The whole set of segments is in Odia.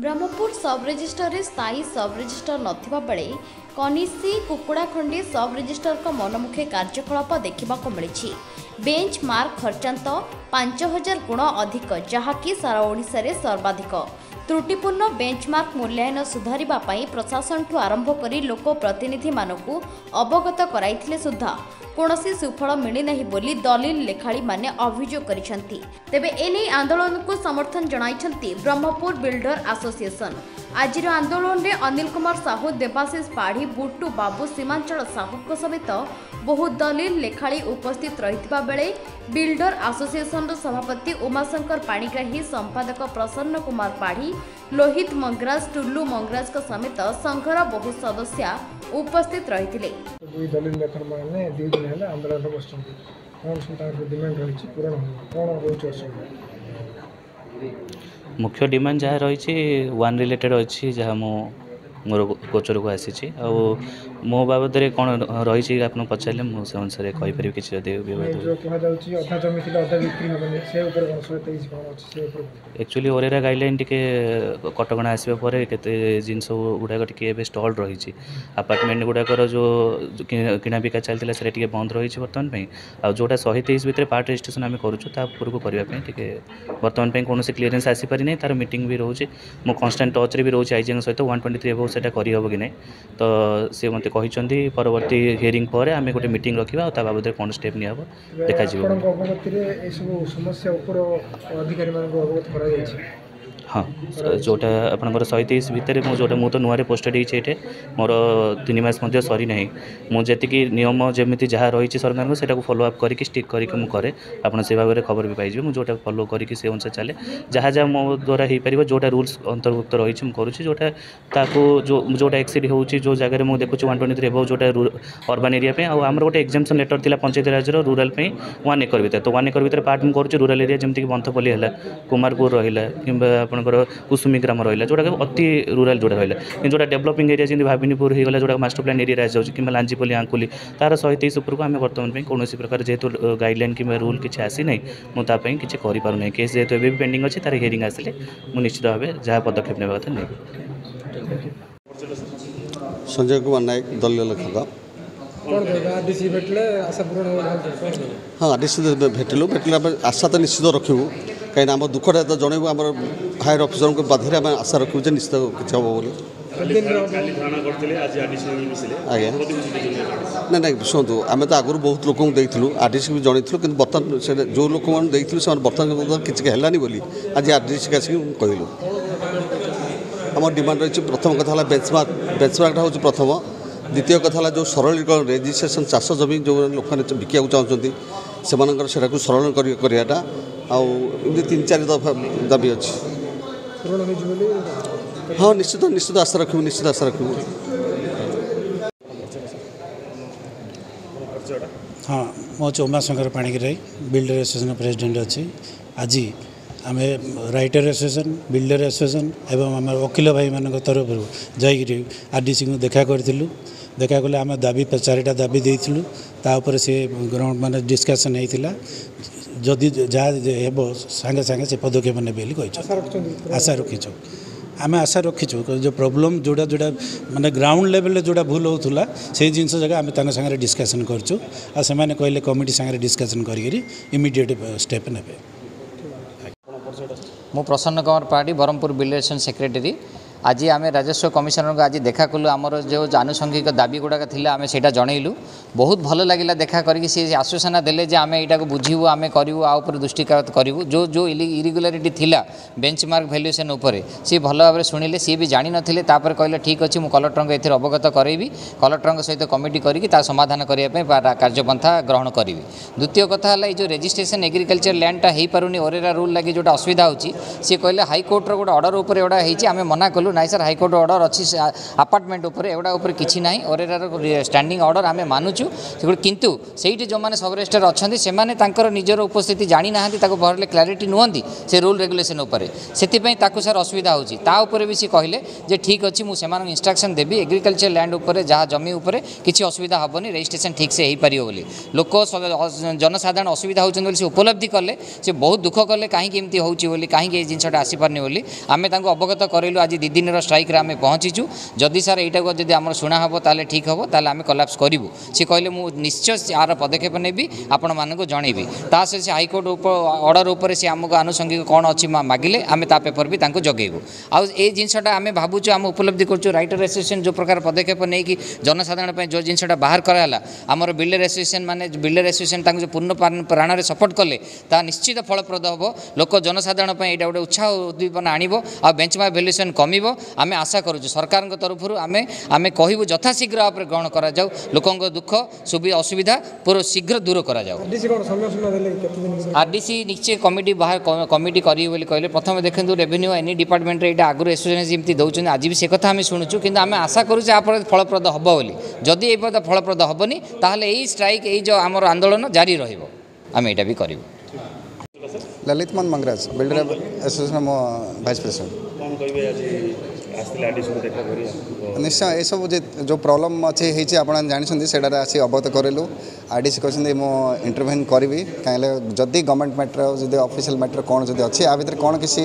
ବ୍ରହ୍ମପୁର ସବ୍ ରେଜିଷ୍ଟ୍ରାରରେ ସ୍ଥାୟୀ ସବ୍ ରେଜିଷ୍ଟ୍ରାର ନଥିବା ବେଳେ କନିଷି କୁକୁଡ଼ାଖଣ୍ଡି ସବ୍ ରେଜିଷ୍ଟ୍ରାରଙ୍କ ମନମୁଖୀ କାର୍ଯ୍ୟକଳାପ ଦେଖିବାକୁ ମିଳିଛି। ବେଞ୍ଚ ମାର୍କ ଖର୍ଚ୍ଚାନ୍ତ 5000 ଗୁଣ ଅଧିକ, ଯାହାକି ସାରା ଓଡ଼ିଶାରେ ସର୍ବାଧିକ। ତ୍ରୁଟିପୂର୍ଣ୍ଣ ବେଞ୍ଚମାର୍କ ମୂଲ୍ୟାୟନ ସୁଧାରିବା ପାଇଁ ପ୍ରଶାସନଠୁ ଆରମ୍ଭ କରି ଲୋକ ପ୍ରତିନିଧିମାନଙ୍କୁ ଅବଗତ କରାଇଥିଲେ ସୁଦ୍ଧା କୌଣସି ସୁଫଳ ମିଳିନାହିଁ ବୋଲି ଦଲିଲ ଲେଖାଳୀମାନେ ଅଭିଯୋଗ କରିଛନ୍ତି। ତେବେ ଏନେଇ ଆନ୍ଦୋଳନକୁ ସମର୍ଥନ ଜଣାଇଛନ୍ତି ବ୍ରହ୍ମପୁର ବିଲ୍ଡର ଆସୋସିଏସନ। ଆଜିର ଆନ୍ଦୋଳନରେ ଅନିଲ କୁମାର ସାହୁ, ଦେବାଶିଷ ପାଢ଼ୀ, ବୁଟୁ ବାବୁ, ସୀମାଞ୍ଚଳ ସାହୁଙ୍କ ସମେତ ବହୁ ଦଲିଲ ଲେଖାଳୀ ଉପସ୍ଥିତ ରହିଥିବା ବେଳେ ବିଲ୍ଡର ଆସୋସିଏସନର ସଭାପତି ଉମାଶଙ୍କର ପାଣିଗ୍ରାହୀ, ସମ୍ପାଦକ ପ୍ରସନ୍ନ କୁମାର ପାଢ଼ୀ, ଲୋହିତ ମଙ୍ଗରାଜ, ଟୁଲୁ ମଙ୍ଗରାଜଙ୍କ ସମେତ ସଂଘର ବହୁ ସଦସ୍ୟା ଉପସ୍ଥିତ ରହିଥିଲେ। ଦୁଇ ଦଲିଲ ଲେଖକମାନେ 2 ଦିନ ହେଲା ଆନ୍ଦୋଳନରେ ବସିଛନ୍ତି। କ'ଣ ସବୁ ତାଙ୍କର ଡିମାଣ୍ଡ ରହିଛି ପୂରଣ ହେଉନି, କ'ଣ ରହୁଛି ଅସୁବିଧା? ମୁଖ୍ୟ ଡିମାଣ୍ଡ ଯାହା ରହିଛି ୱାନ୍ ରିଲେଟେଡ଼୍ ଅଛି, ଯାହା ମୁଁ ମୋର ଗୋଚରକୁ ଆସିଛି। ଆଉ ମୋ ବାବଦରେ କ'ଣ ରହିଛି ଆପଣ ପଚାରିଲେ ମୁଁ ସେ ଅନୁସାରେ କହିପାରିବି କିଛି ଯଦି ବିବାଦ। ଯେଉଁ କୁହାଯାଉଛି ଅଧା ଜମି ଥିଲେ ଅଧା ବିକ୍ରି ହେବନି, ସେ ଉପରେ କ'ଣ 123 କ'ଣ ଅଛି ସେ ଉପରେ? ଆକ୍ଚୁଆଲି ଓରେରା ଗାଇଡ଼ଲାଇନ୍ ଟିକେ କଟକଣା ଆସିବା ପରେ କେତେ ଜିନିଷ ଗୁଡ଼ାକ ଟିକେ ଏବେ ଷ୍ଟଲ୍ ରହିଛି। ଆପାର୍ଟମେଣ୍ଟ ଗୁଡ଼ାକର ଯେଉଁ କିଣା ବିକା ଚାଲିଥିଲା ସେଇଟା ଟିକେ ବନ୍ଦ ରହିଛି ବର୍ତ୍ତମାନ ପାଇଁ। ଆଉ ଯେଉଁଟା 123 ଭିତରେ ପାର୍ଟ ରେଜିଷ୍ଟ୍ରେସନ୍ ଆମେ କରୁଛୁ ତା ଉପରକୁ କରିବା ପାଇଁ ଟିକେ ବର୍ତ୍ତମାନ ପାଇଁ କୌଣସି କ୍ଲିୟରେନ୍ସ ଆସିପାରିନାହିଁ। ତା'ର ମିଟିଂ ବି ରହୁଛି, ମୁଁ କନଷ୍ଟାଣ୍ଟ ଟଚ୍ରେ ବି ରହୁଛି ଆଇଜିଙ୍କ ସହିତ। 123 ଏବୋଭ୍ ସେଇଟା କରିହେବ କି ନାହିଁ ତ ସେ ମୋତେ କହିଛନ୍ତି ପରବର୍ତ୍ତୀ ହିୟରିଂ ପରେ ଆମେ ଗୋଟେ ମିଟିଂ ରଖିବା ଆଉ ତା ବାବଦରେ କ'ଣ ଷ୍ଟେପ୍ ନିଆହେବ ଦେଖାଯିବ। ଆପଣଙ୍କ ଅବଗତିରେ ଏସବୁ ସମସ୍ୟା ଉପର ଅଧିକାରୀମାନଙ୍କୁ ଅବଗତ କରାଯାଇଛି? ହଁ, ଯେଉଁଟା ଆପଣଙ୍କର 123 ଭିତରେ ମୁଁ ଯେଉଁଟା, ମୁଁ ତ ନୂଆରେ ପୋଷ୍ଟେଡ଼ ହେଇଛି ଏଇଠି, ମୋର 3 ମାସ ମଧ୍ୟ ସରିନାହିଁ। ମୁଁ ଯେତିକି ନିୟମ ଯେମିତି ଯାହା ରହିଛି ସରକାରଙ୍କ ସେଇଟାକୁ ଫଲୋ ଅପ୍ କରିକି ଷ୍ଟିକ୍ କରିକି ମୁଁ କରେ। ଆପଣ ସେ ଭାବରେ ଖବର ବି ପାଇଯିବେ। ମୁଁ ଯେଉଁଟା ଫଲୋ କରିକି ସେ ଅନୁସାରେ ଚାଲେ, ଯାହା ଯାହା ମୋ ଦ୍ୱାରା ହେଇପାରିବ, ଯେଉଁଟା ରୁଲ୍ସ ଅନ୍ତର୍ଭୁକ୍ତ ରହିଛି ମୁଁ କରୁଛି। ଯେଉଁଟା ତାକୁ ଯେଉଁଟା ଏକ୍ସିଡ଼ ହେଉଛି, ଯେଉଁ ଜାଗାରେ ମୁଁ ଦେଖୁଛି 123 ଏବୋଭ୍ ଯେଉଁଟା ଅର୍ବାନ୍ ଏରିଆ ପାଇଁ, ଆଉ ଆମର ଗୋଟେ ଏକ୍ଜାମ୍ସନ୍ ଲେଟର୍ ଥିଲା ପଞ୍ଚାୟତ ରାଜର ରୁରାଲ୍ ପାଇଁ 1 ଏକର ଭିତରେ, ତ 1 ଏକର ଭିତରେ ପାର୍ଟ ମୁଁ କରୁଛି। ରୁରାଲ୍ ଏରିଆ ଯେମିତିକି ବନ୍ଥପଲ୍ଲୀ ହେଲା, କୁମାରପୁର ରହିଲା, କିମ୍ବା ଆପଣଙ୍କର କୁସୁମୀ ଗ୍ରାମ ରହିଲା, ଯେଉଁଟାକି ଅତି ରୁରାଲ୍ ଯେଉଁଟା ରହିଲା। କିନ୍ତୁ ଯେଉଁଟା ଡେଭଲପିଂ ଏରିଆ ଯେମିତି ଭାବିନୀପୁର ହେଇଗଲା, ଯେଉଁଟା ମାଷ୍ଟର ପ୍ଲାନ୍ ଏରିଆରେ ଆସିଯାଉଛି, କିମ୍ବା ଲାଞ୍ଜିପଲ୍ଲୀ, ଆଙ୍କୁଲି, ତା'ର 123 ଉପରକୁ ଆମେ ବର୍ତ୍ତମାନ ପାଇଁ କୌଣସି ପ୍ରକାର ଯେହେତୁ ଗାଇଡ଼ଲାଇନ୍ କିମ୍ବା ରୁଲ୍ କିଛି ଆସିନାହିଁ, ମୁଁ ତା ପାଇଁ କିଛି କରିପାରୁନାହିଁ। କେସ୍ ଯେହେତୁ ଏବେ ବି ପେଣ୍ଡିଂ ଅଛି, ତା'ର ହିୟରିଂ ଆସିଲେ ମୁଁ ନିଶ୍ଚିତ ଭାବେ ଯାହା ପଦକ୍ଷେପ ନେବା କଥା ନେବି। ସଞ୍ଜୟ କୁମାର ନାୟକ, ଦଳୀୟ ଲେଖକ। ହଁ, ଆରଡିସି ଭେଟିଲୁ। ଭେଟିଲା ପରେ ଆଶା ତ ନିଶ୍ଚିତ ରଖିବୁ, କାହିଁକିନା ଆମ ଦୁଃଖଟା ତ ଜଣେଇବୁ ଆମର ହାୟର ଅଫିସରଙ୍କ ବାଧ୍ୟରେ। ଆମେ ଆଶା ରଖିବୁ ଯେ ନିଶ୍ଚିତ କିଛି ହେବ ବୋଲି। ଆଜ୍ଞା, ନାଇଁ ନାଇଁ, ଶୁଣନ୍ତୁ, ଆମେ ତ ଆଗରୁ ବହୁତ ଲୋକଙ୍କୁ ଦେଇଥିଲୁ, ଆରଡିସି ବି ଜଣେଇଥିଲୁ, କିନ୍ତୁ ବର୍ତ୍ତମାନ ସେ ଯେଉଁ ଲୋକମାନଙ୍କୁ ଦେଇଥିଲୁ ସେମାନେ ବର୍ତ୍ତମାନ କିଛି ହେଲାନି ବୋଲି ଆଜି ଆରଡିସିକି ଆସିକି କହିଲୁ। ଆମ ଡିମାଣ୍ଡ ରହିଛି, ପ୍ରଥମ କଥା ହେଲା ବେଞ୍ଚମାର୍କ, ବେଞ୍ଚମାର୍କଟା ହେଉଛି ପ୍ରଥମ। ଦ୍ୱିତୀୟ କଥା ହେଲା ଯେଉଁ ସରଳୀକରଣ ରେଜିଷ୍ଟ୍ରେସନ୍, ଚାଷ ଜମି ଯେଉଁ ଲୋକମାନେ ବିକିବାକୁ ଚାହୁଁଛନ୍ତି ସେମାନଙ୍କର ସେଟାକୁ ସରଳ କରିବାଟା, ଆଉ ଏମିତି 3 4 ଦଫା ଦାବି ଅଛି। ହଁ, ନିଶ୍ଚିତ ନିଶ୍ଚିତ ଆଶା ରଖିବୁ, ନିଶ୍ଚିତ ଆଶା ରଖିବୁ। ହଁ, ମୁଁ ହେଉଛି Umashankar Panigrahi, builder association president ଅଛି। ଆଜି ଆମେ ରାଇଟର ଆସୋସିଏସନ୍, ବିଲ୍ଡର ଆସୋସିଏସନ୍ ଏବଂ ଆମର ଓକିଲ ଭାଇମାନଙ୍କ ତରଫରୁ ଯାଇକରି ଆରଡିସିଙ୍କୁ ଦେଖା କରିଥିଲୁ। ଦେଖା କଲେ ଆମେ ଦାବି 4ଟା ଦାବି ଦେଇଥିଲୁ, ତା ଉପରେ ସେ ଗ୍ରହଣ ମାନେ ଡିସ୍କସନ୍ ହେଇଥିଲା। ଯଦି ଯାହା ହେବ ସାଙ୍ଗେ ସାଙ୍ଗେ ସେ ପଦକ୍ଷେପ ନେବେ ବୋଲି କହିଛନ୍ତି। ଆଶା ରଖିଛୁ, ଆମେ ଆଶା ରଖିଛୁ। ଯେଉଁ ପ୍ରୋବ୍ଲେମ୍ ଯେଉଁଟା ଯେଉଁଟା ମାନେ ଗ୍ରାଉଣ୍ଡ ଲେଭେଲରେ ଯେଉଁଟା ଭୁଲ ହେଉଥିଲା ସେଇ ଜିନିଷ ଯାକ ଆମେ ତାଙ୍କ ସାଙ୍ଗରେ ଡିସ୍କସନ୍ କରିଛୁ, ଆଉ ସେମାନେ କହିଲେ କମିଟି ସାଙ୍ଗରେ ଡିସ୍କସନ୍ କରିକିରି ଇମିଡ଼ିଏଟ୍ ଷ୍ଟେପ୍ ନେବେ। ମୁଁ Prasanna Kumar Padhi, Brahmapur builder association secretary. ଆଜି ଆମେ ରାଜସ୍ୱ କମିଶନରଙ୍କୁ ଆଜି ଦେଖା କଲୁ। ଆମର ଯେଉଁ ଆନୁଷଙ୍ଗିକ ଦାବି ଗୁଡ଼ାକ ଥିଲା ଆମେ ସେଇଟା ଜଣେଇଲୁ। ବହୁତ ଭଲ ଲାଗିଲା ଦେଖା କରିକି। ସେ ଆଶ୍ୱାସନା ଦେଲେ ଯେ ଆମେ ଏଇଟାକୁ ବୁଝିବୁ, ଆମେ କରିବୁ, ଆ ଉପରେ ଦୃଷ୍ଟିପାତ କରିବୁ। ଯେଉଁ ଯେଉଁ ଇରେଗୁଲାରିଟି ଥିଲା ବେଞ୍ଚମାର୍କ ଭ୍ୟାଲୁଏସନ୍ ଉପରେ ସିଏ ଭଲ ଭାବରେ ଶୁଣିଲେ, ସିଏ ବି ଜାଣିନଥିଲେ। ତାପରେ କହିଲେ ଠିକ୍ ଅଛି, ମୁଁ କଲେକ୍ଟରଙ୍କ ଏଥିରେ ଅବଗତ କରାଇବି, କଲେକ୍ଟରଙ୍କ ସହିତ କମିଟି କରିକି ତା ସମାଧାନ କରିବା ପାଇଁ କାର୍ଯ୍ୟପନ୍ଥା ଗ୍ରହଣ କରିବି। ଦ୍ୱିତୀୟ କଥା ହେଲା ଏଇ ଯେଉଁ ରେଜିଷ୍ଟ୍ରେସନ୍ ଏଗ୍ରିକଲଚର ଲ୍ୟାଣ୍ଡଟା ହେଇପାରୁନି ଓରେରା ରୁଲ୍ ଲାଗି ଯେଉଁଟା ଅସୁବିଧା ହେଉଛି, ସିଏ କହିଲେ ହାଇକୋର୍ଟର ଗୋଟେ ଅର୍ଡ଼ର ଉପରେ ଏଗୁଡ଼ା ହେଇଛି। ଆମେ ମନା କଲୁ, ନାଇଁ ସାର୍, ହାଇକୋର୍ଟ ଅର୍ଡ଼ର ଅଛି ଆପାର୍ଟମେଣ୍ଟ ଉପରେ, ଏଗୁଡ଼ା ଉପରେ କିଛି ନାହିଁ। ଓରେରାର ଷ୍ଟାଣ୍ଡିଂ ଅର୍ଡ଼ର ଆମେ ମାନୁଛୁ ସେଗୁଡ଼ା। କିନ୍ତୁ ସେଇଠି ଯେଉଁମାନେ ସବ୍ ରେଜିଷ୍ଟ୍ରାର ଅଛନ୍ତି, ସେମାନେ ତାଙ୍କର ନିଜର ଉପସ୍ଥିତି ଜାଣିନାହାନ୍ତି, ତାକୁ ଭଲରେ କ୍ଲାରିଟି ନୁହନ୍ତି ସେ ରୁଲ୍ ରେଗୁଲେସନ୍ ଉପରେ। ସେଥିପାଇଁ ତାକୁ ସାର୍ ଅସୁବିଧା ହେଉଛି। ତା ଉପରେ ବି ସେ କହିଲେ ଯେ ଠିକ୍ ଅଛି, ମୁଁ ସେମାନଙ୍କୁ ଇନଷ୍ଟ୍ରକ୍ସନ୍ ଦେବି, ଏଗ୍ରିକଲଚର ଲ୍ୟାଣ୍ଡ ଉପରେ, ଯାହା ଜମି ଉପରେ କିଛି ଅସୁବିଧା ହେବନି, ରେଜିଷ୍ଟ୍ରେସନ୍ ଠିକ୍ସେ ହେଇପାରିବ ବୋଲି। ଲୋକ ଜନସାଧାରଣ ଅସୁବିଧା ହେଉଛନ୍ତି ବୋଲି ସେ ଉପଲବ୍ଧି କଲେ। ସେ ବହୁତ ଦୁଃଖ କଲେ, କାହିଁକି ଏମିତି ହେଉଛି ବୋଲି, କାହିଁକି ଏଇ ଜିନିଷଟା ଆସିପାରୁନି ବୋଲି। ଆମେ ତାଙ୍କୁ ଅବଗତ କରାଇଲୁ। ଆଜି 2 ଦିନର ଷ୍ଟ୍ରାଇକ୍ରେ ଆମେ ପହଞ୍ଚିଛୁ। ଯଦି ସାର୍ ଏଇଟାକୁ ଯଦି ଆମର ଶୁଣା ହେବ, ତାହେଲେ ଠିକ୍ ହେବ, ତାହେଲେ ଆମେ କଲାପ୍ସ କରିବୁ। ସେ କହିଲେ, ମୁଁ ନିଶ୍ଚୟ ଆର ପଦକ୍ଷେପ ନେବି, ଆପଣମାନଙ୍କୁ ଜଣେଇବି। ତା ସହିତ ସେ ହାଇକୋର୍ଟ ଅର୍ଡ଼ର ଉପରେ ସେ ଆମକୁ ଆନୁଷଙ୍ଗିକ କ'ଣ ଅଛି ମାଗିଲେ, ଆମେ ତା ପେପର ବି ତାଙ୍କୁ ଯୋଗେଇବୁ। ଆଉ ଏଇ ଜିନିଷଟା ଆମେ ଭାବୁଛୁ, ଆମେ ଉପଲବ୍ଧି କରୁଛୁ, ରାଇଟର ଆସୋସିଏସନ୍ ଯେଉଁ ପ୍ରକାର ପଦକ୍ଷେପ ନେଇକି ଜନସାଧାରଣ ପାଇଁ ଯେଉଁ ଜିନିଷଟା ବାହାର କରାହେଲା, ଆମର ବିଲ୍ଡର ଆସୋସିଏସନ୍ ମାନେ ବିଲ୍ଡର ଆସୋସିଏସନ୍ ତାଙ୍କୁ ଯେଉଁ ପୂର୍ଣ୍ଣ ପ୍ରାଣରେ ସପୋର୍ଟ କଲେ, ତାହା ନିଶ୍ଚିତ ଫଳପ୍ରଦ ହେବ। ଲୋକ ଜନସାଧାରଣ ପାଇଁ ଏଇଟା ଗୋଟେ ଉତ୍ସାହ ଉଦ୍ଦୀପନା ଆଣିବ ଆଉ ବେଞ୍ଚମାର୍କ ଭ୍ୟାଲୁଏସନ୍ କମିବ ଆମେ ଆଶା କରୁଛୁ। ସରକାରଙ୍କ ତରଫରୁ ଆମେ କହିବୁ, ଯଥାଶୀଘ୍ର ଉପରେ ଗ୍ରହଣ କରାଯାଉ, ଲୋକଙ୍କ ଦୁଃଖ ଅସୁବିଧା ପୁରା ଶୀଘ୍ର ଦୂର କରାଯାଉ। ଆରଡିସି କ'ଣ ସମୟ ସୀମା ଦେଲେ କି କେତେ ଦିନ ଭିତରେ? ଆରଡିସି ନିଶ୍ଚୟ କମିଟି ବାହାର କମିଟି କରିବେ ବୋଲି କହିଲେ। ପ୍ରଥମେ ଦେଖନ୍ତୁ, ରେଭିନ୍ୟୁ ଏନି ଡିପାର୍ଟମେଣ୍ଟରେ ଏଇଟା ଆଗରୁ ଆସୋସିଏସନ୍ ଯେମିତି ଦେଉଛନ୍ତି, ଆଜି ବି ସେ କଥା ଆମେ ଶୁଣୁଛୁ। କିନ୍ତୁ ଆମେ ଆଶା କରୁଛୁ ଆ ପରେ ଫଳପ୍ରଦ ହେବ ବୋଲି। ଯଦି ଏଇ ପଦ ଫଳପ୍ରଦ ହେବନି, ତାହେଲେ ଏଇ ଷ୍ଟ୍ରାଇକ୍, ଏଇ ଯେଉଁ ଆମର ଆନ୍ଦୋଳନ ଜାରି ରହିବ, ଆମେ ଏଇଟା ବି କରିବୁ। ଲଲିତ ମୋହନ ମଙ୍ଗରାଜ, ବିଲ୍ଡର ଆସୋସିଏସନ୍ ମୋ ଭାଇସ୍ ପ୍ରେସିଡେଣ୍ଟ। କ'ଣ କହିବେ, ଆଜି ଆସିଥିଲେ ଆଡିସିକୁ ଦେଖା କରି? ନିଶ୍ଚୟ ଏସବୁ ଯେ ଯେଉଁ ପ୍ରୋବ୍ଲେମ୍ ଅଛି ହେଇଛି, ଆପଣ ଜାଣିଛନ୍ତି, ସେଇଟାରେ ଆସି ଅବଗତ କରିଲୁ। ଆର୍ ଡି ସି କହିଛନ୍ତି, ମୁଁ ଇଣ୍ଟରଭେନ୍ କରିବି। କାହିଁକି ଯଦି ଗଭର୍ଣ୍ଣମେଣ୍ଟ ମ୍ୟାଟର, ଯଦି ଅଫିସିଆଲ ମ୍ୟାଟର କ'ଣ ଯଦି ଅଛି, ଆ ଭିତରେ କ'ଣ କିଛି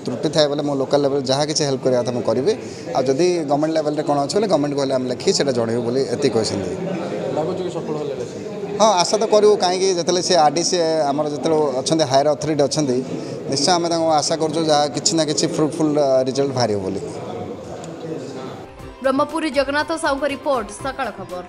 ତ୍ରୁଟି ଥାଏ ବୋଲେ, ମୁଁ ଲୋକାଲ୍ ଲେଭେଲ୍ ଯାହା କିଛି ହେଲ୍ପ କରିବା କଥା ମୁଁ କରିବି। ଆଉ ଯଦି ଗଭର୍ଣ୍ଣମେଣ୍ଟ ଲେଭେଲରେ କ'ଣ ଅଛି ବୋଲେ, ଗଭର୍ଣ୍ଣମେଣ୍ଟକୁ ହେଲେ ଆମେ ଲେଖି ସେଇଟା ଜଣେଇବୁ ବୋଲି ଏତିକି କହିଛନ୍ତି। ଲାଗୁଛି କି ସଫଳ ହେଲେ? ହଁ, ଆଶା ତ କରିବୁ। କାହିଁକି ଯେତେବେଳେ ସେ ଆର୍ ଡି ସି ଆମର ଯେତେବେଳେ ଅଛନ୍ତି, ହାୟର ଅଥରିଟି ଅଛନ୍ତି, ନିଶ୍ଚୟ ଆମେ ତାଙ୍କୁ ଆଶା କରୁଛୁ ଯାହା କିଛି ନା କିଛି ଫ୍ରୁଟଫୁଲ୍ ରେଜଲ୍ଟ ବାହାରିବ ବୋଲି। ବ୍ରହ୍ମପୁର ଜଗନ୍ନାଥ ସାହୁଙ୍କ ରିପୋର୍ଟ, ସକାଳ ଖବର।